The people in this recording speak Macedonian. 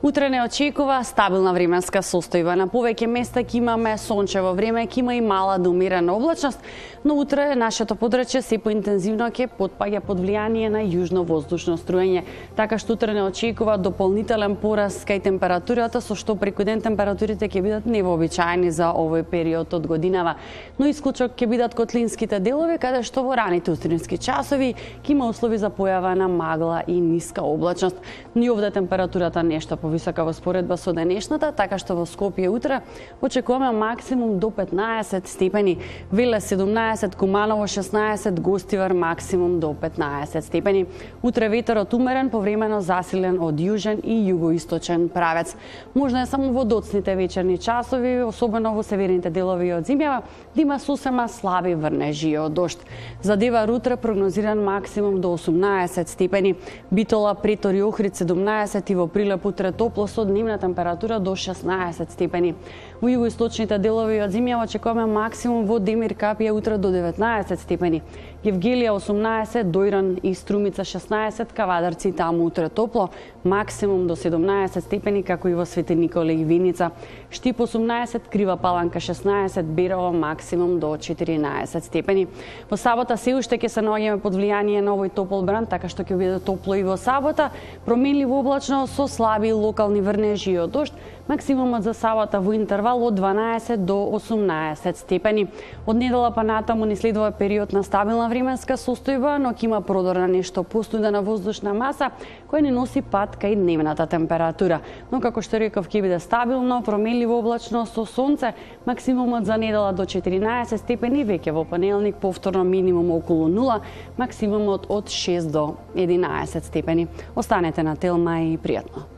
Утре не очекува стабилна временска состојба. На повеќе места ќе имаме сончево време, ќе има и мала до умерена облачност, но утре нашето подрачје се поинтензивно ќе потпаѓа под влијание на јужно воздушно струење. Така што утре не очекува дополнителен пораст кај температурата, со што преку ден температурите ќе бидат невообичаени за овој период од годинава. Но исклучок ќе бидат котлинските делови, каде што во раните утрински часови ќе има услови за појава на магла и ниска облачност. Ни овде температурата нешто повисока во споредба со денешната, така што во Скопје утре очекуваме максимум до 15 степени, Велес 17, Куманово 16, Гостивар максимум до 15 степени. Утре ветерот умерен, повремено засилен од јужен и југоисточен правец. Можно е само во доцните вечерни часови, особено во северните делови од земјава, да има сосема слаби врнежи од дожд. За Девар утре прогнозиран максимум до 18 степени, Битола, Претор и Охрид 17 и во Прилеп утре топло со дневна температура до 16 степени. Во југоисточните делови од земјава очекуваме максимум во Демир Капија утре до 19 степени. Евгелија 18, Дојран и Струмица 16, Кавадарци таму утре топло, максимум до 17 степени, како и во Свети Николе и Виница. Штип 18, Крива Паланка 16, Берово максимум до 14 степени. Во сабота се уште ќе се наоѓаме под влијание на овој топол бран, така што ќе биде топло и во сабота, променливо облачно со слаби локални врнежи од дожд, максимумот за сабота во интервал од 12 до 18 степени. Од недела па натаму ни следува период на стабилна временска состојба, но ќе има продор на нешто постудена воздушна маса која ни носи пат кај дневната температура. Но како што реков, ќе биде стабилно, променливо облачно со сонце, максимумот за недела до 14 степени, веќе во понеделник повторно минимум околу 0, максимумот од 6 до 11 степени. Останете на Телма и пријатно.